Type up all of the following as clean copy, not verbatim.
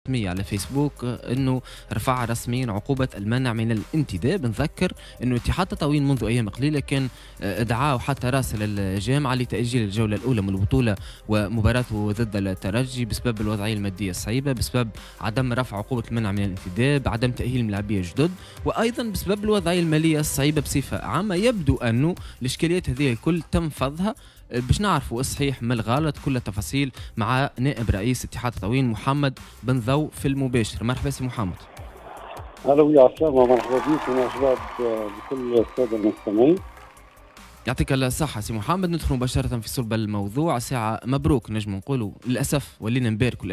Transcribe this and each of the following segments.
الرسمية على فيسبوك أنه رفع رسميا عقوبة المنع من الانتداب. نذكر أنه اتحاد تطاوين منذ أيام قليلة كان دعاه وحتى راسل الجامعة لتأجيل الجولة الأولى من البطولة ومباراته ضد الترجي بسبب الوضعية المادية الصعيبة، بسبب عدم رفع عقوبة المنع من الانتداب، عدم تأهيل ملاعبية جدد، وأيضا بسبب الوضعية المالية الصعيبة بصفة عامة. يبدو أنه الإشكاليات هذه الكل تم فضها باش نعرفوا الصحيح من الغلط، كل التفاصيل مع نائب رئيس اتحاد تطاوين محمد بن ضو في المباشر. مرحبا سي محمد. اهلا ويا عسلامة، مرحبا بك ومرحبا بكل السادة المستمعين. يعطيك الصحة سي محمد. ندخل مباشرة في صلب الموضوع. ساعة مبروك نجم نقولوا، للأسف ولينا نباركوا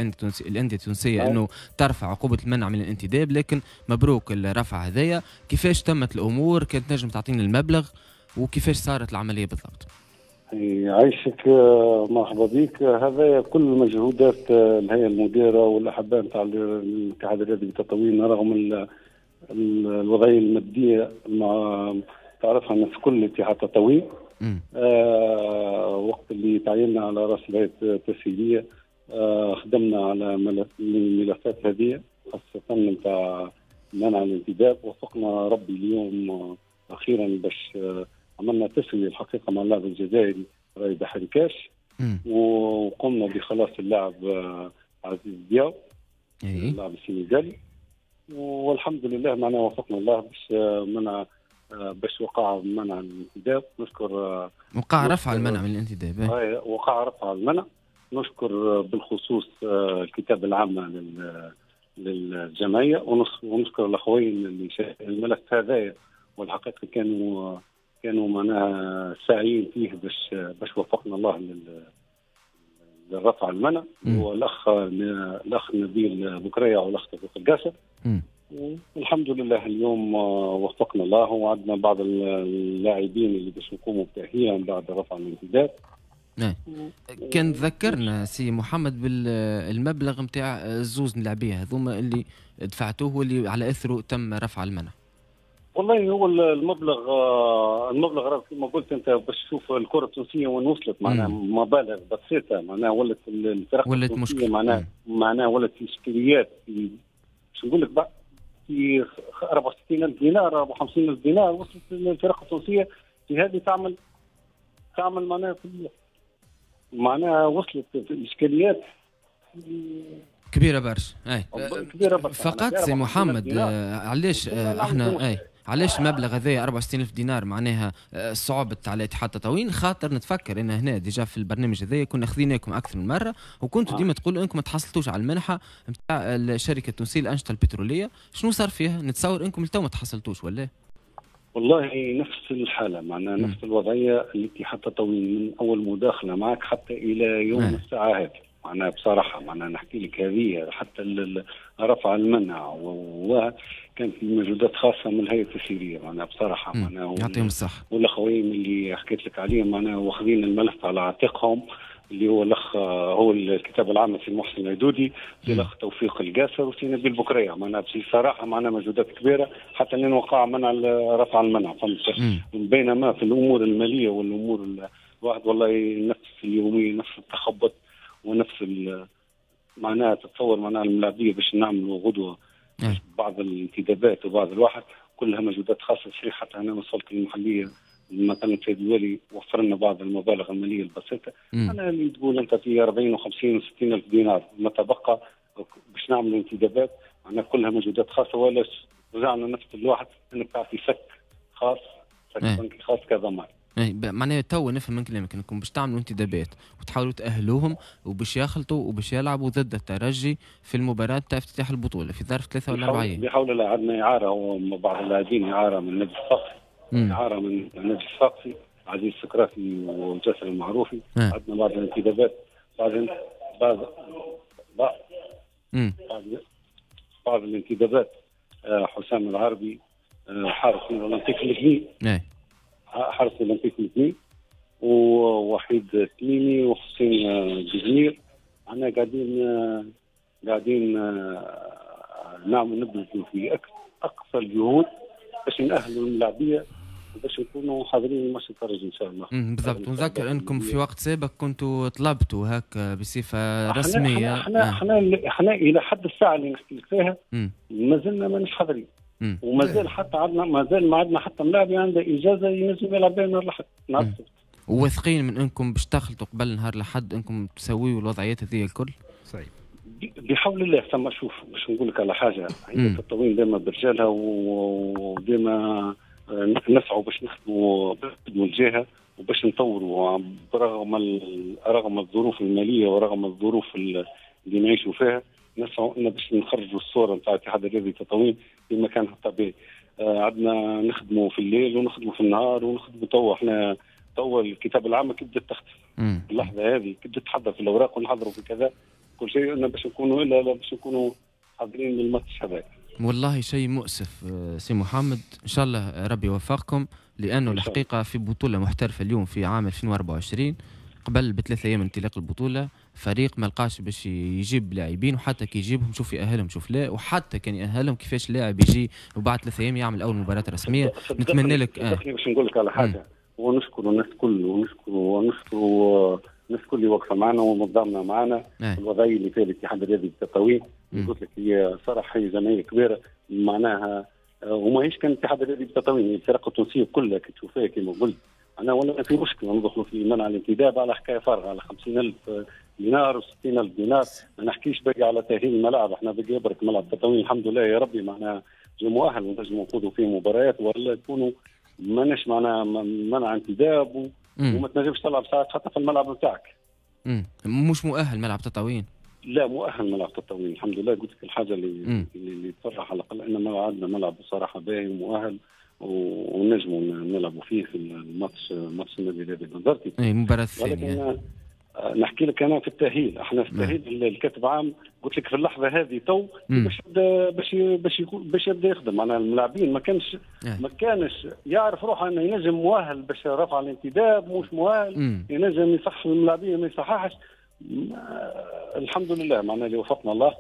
الأندية التونسية أنه ترفع عقوبة المنع من الانتداب، لكن مبروك الرفع هذايا. كيفاش تمت الأمور؟ كانت نجم تعطينا المبلغ وكيفاش صارت العملية بالضبط؟ يعيشك، مرحبا بك. هذا كل مجهودات الهيئة المديرة والاحباء نتاع الاتحاد الرياضي بتطاوين، رغم الوضعية المادية مع تعرفها الناس كل اتحاد تطاوين. وقت اللي تعيننا على راس الهيئة التسهيليه خدمنا على الملفات هذه، خاصة نتاع منع الانتداب. وفقنا ربي اليوم اخيرا باش عملنا تسوية الحقيقة مع اللاعب الجزائري رايد حركاش، وقمنا بخلاص اللاعب عزيز دياو اللاعب السنغالي، والحمد لله معنا وفقنا الله باش منع باش وقع منع الانتداب. نشكر وقع رفع المنع من الانتداب. وقع رفع المنع. نشكر بالخصوص الكتاب العام للجمعية، ونشكر الاخوين اللي الملف هذايا، والحقيقة كانوا معناها ساعيين فيه باش وفقنا الله للرفع المنع. والاخ نبيل بكرية والاخ توفيق القاسم. والحمد لله اليوم وفقنا الله وعندنا بعض اللاعبين اللي باش نقوموا بتاهيلهم بعد رفع الانتداب. كان ذكرنا سي محمد بالمبلغ نتاع الزوز اللاعبيه هذوما اللي دفعتوه واللي على اثره تم رفع المنع. والله هو المبلغ كما قلت انت باش تشوف الكره التونسية وين وصلت، معناها مبالغ بسيطة، معناها ولت الفرق ولت مشكلة، معناها ولت اشكاليات في باش نقول لك بقى في 64000 دينار 54000 دينار وصلت الفرق التونسية في هذه تعمل معناها معناها وصلت الاشكاليات كبيرة برشا. كبيرة برشا. فقط سي محمد علاش احنا علاش المبلغ هذايا 64000 دينار معناها صعبت على اتحاد تطاوين؟ خاطر نتفكر ان هنا déjà في البرنامج هذايا كنا خذيناكم اكثر من مرة، وكنتوا ديما تقولوا انكم ما تحصلتوش على المنحة نتاع الشركة التونسية للانشطه البتروليه. شنو صار فيها؟ نتصور انكم لتو ما تحصلتوش ولا؟ والله نفس الحالة، معناها نفس الوضعية اللي اتحاد تطاوين من اول مداخله معك حتى الى يوم الساعة هذه. معناها بصراحة معناها نحكي لك هذه حتى رفع المنع وكان في مجهودات خاصة من الهيئة التسييريه، معناها بصراحة معناها يعطيهم الصحة. والاخوين اللي حكيت لك عليهم معناها واخذين الملف على عاتقهم، اللي هو الاخ هو الكتاب العام سي محسن العدودي، سي الاخ توفيق القاسر، وسي نبيل بكريه. معناها بصراحة معناها مجهودات كبيرة حتى لين وقع منع رفع المنع، فهمت؟ بينما في الامور المالية والامور الواحد والله نفس اليومية نفس التخبط ونفس معناها تتصور معناها الملاعبيه باش نعملوا غدوه بعض الانتدابات وبعض الواحد كلها مجهودات خاصة. صحيح حتى انا وصلت المحلية مثلا السيد الوالي وفر لنا بعض المبالغ المالية البسيطة. انا اللي تقول انت في 40 و50 و60 الف دينار ما تبقى باش نعملوا انتدابات، معناها كلها مجهودات خاصة. ولا رجعنا نفس الواحد انك تعطي سك خاص، سك بنكي خاص كضمان. معناها تو نفهم من كلامك انكم باش تعملوا انتدابات وتحاولوا تأهلوهم وباش يخلطوا وباش يلعبوا ضد الترجي في المباراة تاع افتتاح البطولة في ظرف 3 ولا 4 ايام. بحول الله عندنا إعارة، وبعض اللاعبين إعارة من النادي الصفاقسي، إعارة من النادي الصفاقسي عزيز السكرافي وجاسر المعروفي. عندنا بعض الانتدابات، بعض الانتدابات حسام العربي حارس من اولمبيك المدني، حارس الاولمبيك المدني، ووحيد التميمي وحسين الجزير. احنا قاعدين نعمل نبذل في اقصى الجهود باش نأهلوا الملاعبيه باش نكونوا حاضرين الماتش الترجي ان شاء الله. بالضبط، ونذكر انكم في وقت سابق كنتوا طلبتوا هكا بصفة رسمية. احنا الى حد الساعة اللي نحكي لك فيها ما زلنا ماناش حاضرين، ومازال حتى عندنا مازال ما عندنا حتى ملاعب عنده اجازه ينجم يلعب بها نهار الاحد نهار السبت. وواثقين من انكم باش تخلطوا قبل نهار الاحد انكم تسويوا الوضعيات هذه الكل؟ صحيح بحول الله. ثم شوف باش نقول لك على حاجة، هي التطوين ديما برجالها وديما نسعوا باش نخدموا الجهة وباش نطوروا رغم الظروف المالية ورغم الظروف اللي نعيشوا فيها، نسعوا ان باش نخرجوا الصورة نتاع الاتحاد الرياضي التطوين في مكانها الطبيعي. عندنا نخدموا في الليل ونخدموا في النهار ونخدموا توا. احنا توا الكتاب العام كي بدات تخدم اللحظة هذه، كي بدات تحضر في الاوراق ونحضروا في كذا كل شيء، ان باش نكونوا الا باش نكونوا حاضرين للماتش هذاك. والله شيء مؤسف سي محمد، ان شاء الله ربي يوفقكم، لانه الحقيقة في بطوله محترفه اليوم في عام 2024 قبل ب3 ايام انطلاق البطولة فريق ما لقاش باش يجيب لاعبين، وحتى كي يجيبهم شوف يأهلهم شوف لا، وحتى كان يأهلهم كيفاش لاعب يجي وبعد 3 ايام يعمل اول مباراة رسمية. نتمنى لك باش نقول لك على حاجة، ونشكر الناس الكل ونشكر الناس الكل اللي واقفة معنا ومتضامنه معنا. الوضعية اللي فيها الاتحاد الرياضي التطاوين قلت لك هي صراحة هي جمعية كبيرة معناها، وماهيش كان الاتحاد الرياضي التطاوين، الفرق التونسية كلها كي تشوفها كما قلت انا ولا في مشكلة ندخلوا في منع الانتداب على حكاية فارغة على 50,000 دينار و60,000 دينار. ما نحكيش باقي على تاهيل الملاعب، احنا باقي يبرك ملعب التطاوين الحمد لله يا ربي معناها مؤهل ونجموا نخوضوا فيه مباريات، ولا يكونوا ماناش معناها منع انتداب وما تنجمش تلعب ساعات حتى في الملعب نتاعك. مش مؤهل ملعب تطاوين؟ لا مؤهل ملعب تطاوين الحمد لله. قلت لك الحاجة اللي تفرح على الاقل ان عندنا ملعب بصراحة باهي ومؤهل ونجموا نلعبوا فيه في الماتش ماتش النادي الرياضي البنزرتي. اي المباراة الثانية. نحكي لك انا في التاهيل، احنا في التاهيل الكاتب عام قلت لك في اللحظة هذه تو باش باش باش يبدا يخدم معناها الملاعبين ما كانش يعرف روحه انه ينجم مؤهل باش رفع الانتداب مش مؤهل، ينجم يصحح الملاعبين ما يصححش. الحمد لله معناها اللي وفقنا الله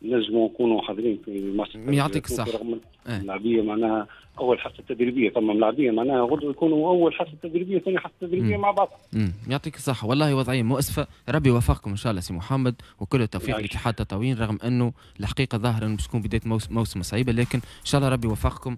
نجموا نكونوا حاضرين في الماتش. يعطيك الصحة. الملاعبيه معناها اول حصة تدريبية، ثم ملاعبيه معناها غدوه يكونوا اول حصة تدريبية ثاني حصة تدريبية مع بعض. يعطيك الصحة، والله وضعية مؤسفة، ربي يوفقكم ان شاء الله سي محمد، وكل التوفيق لاتحاد تطاوين، رغم انه الحقيقة ظاهره انه باش تكون بداية موسم صعيبة، لكن ان شاء الله ربي يوفقكم.